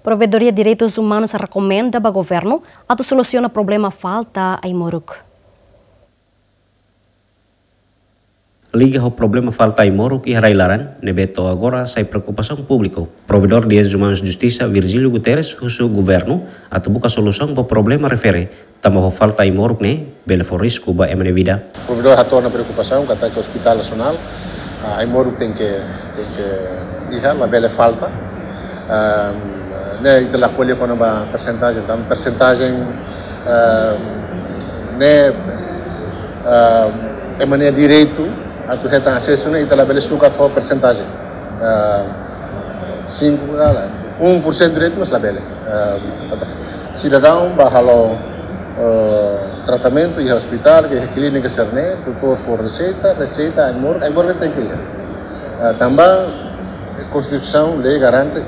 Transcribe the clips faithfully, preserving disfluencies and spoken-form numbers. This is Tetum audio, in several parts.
Provedoria Direitus Umanus rekomenda ba governu atu solusiona problema falta ai-moruk. Liga ho problema falta ai-moruk iha rai-laran ne'ebé to'o agora sai preokupasaun públiku, Provedór Direitus Umanus Justisa, Virgílio Guterres, husu governu atu buka solusaun ba problema refere tanba ho falta ai-moruk ne'e bele fó risku ba ema nia vida. Provedór hato'o ona preokupasaun katak ospitál nasionál, ah, ai-moruk tenke, tenke iha, labele falta. Ehm, ne'e ita la ko'alia kona-ba persentajen, tanba persentajen, ehm, ne'e, ehm, ema nia direitu atu hetan asesu ne'e ita labele sukat ho persentajen. Ehm, sinku, la, la, um por cento direitu, mas labele. Ehm, sidadaun bá halo, eh, tratamentu iha ospitál, iha klínika sira-ne'e, doutór fó reseita, reseita, ai-moruk, ai-moruk tenke iha. Eh, tanba Konstituisaun, lei garante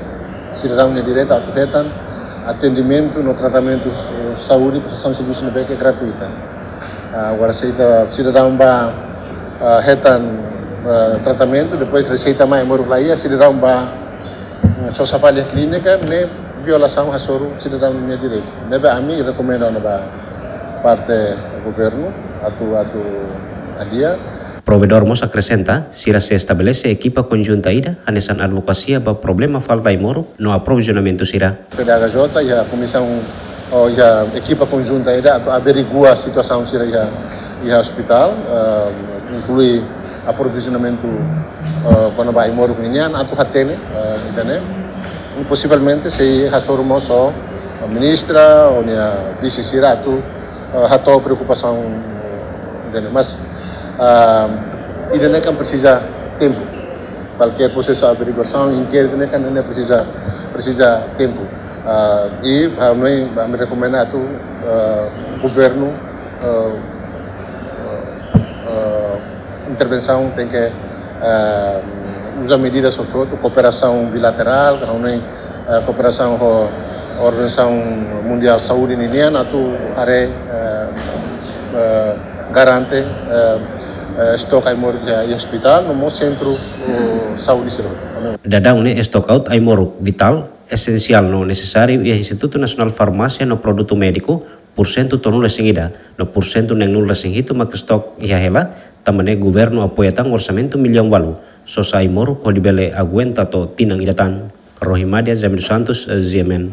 sidadaun nia direitu atu hetan atendimentu no tratamentu, eh, saúde, prestasaun servisu ne'ebé ke gratuita. Ah, agora se ita sidadaun bá, ah, hetan, ah, tratamentu, depois reseita mai, ai-moruk la iha, sidadaun bá, mm, sosa fali iha klínika, ne'e violasaun hasoru sidadaun nia direitu. Ne'ebé ami rekomenda ona ba parte governu atu, atu hadi'a. Provedór mós akresenta, sira sei estabelese ekipa konjunta ida hanesan advokasia ba problema falta ai-moruk no aprovizionamentu sira. P D H J iha komisaun, ou iha ekipa konjunta ida atu averigua situasaun sira iha, iha ospitál, eh, inklui aprovizionamentu, eh, kona-ba ai-moruk ninian atu hatene, eh, ida-ne'e. Posivelmente sei hasoru mós ho ministra ou nia vise sira atu, eh, hato'o preokupasaun ida-ne'e. Mas, ah, ida-ne'e kan presiza tempu. Kualkér prosesu averiguasaun, inkéritu ne'e kan ne'e presiza, presiza tempu. Ah, i, ah, ami, ami rekomenda atu, ah, governu, ah, ah, intervensaun tenke, ah, uza medidas hotu-hotu, kooperasaun bilaterál, ka hanoin, eh, kooperasaun ho Organizasaun Mundiál Saúde ninian atu haree, eh, eh, garante, eh, eh, estok ai-moruk iha, iha ospitál, no mós sentru, eh, saúde sira. Daudaun ne'e estok ai-moruk vitál, esensiál no nesesáriu iha Institutu Nasionál Farmásia no Produtu Médiku, pursentu tolunulu-resin-ida, no pursentu neenulu-resin-hitu mak estok iha hela, tanba ne'e governu apoia tan orsamentu millaun ualu, sosa ai-moruk hodi bele aguenta to'o tinan ida tan. Rohimadia Jamil Santos, eh, G M N.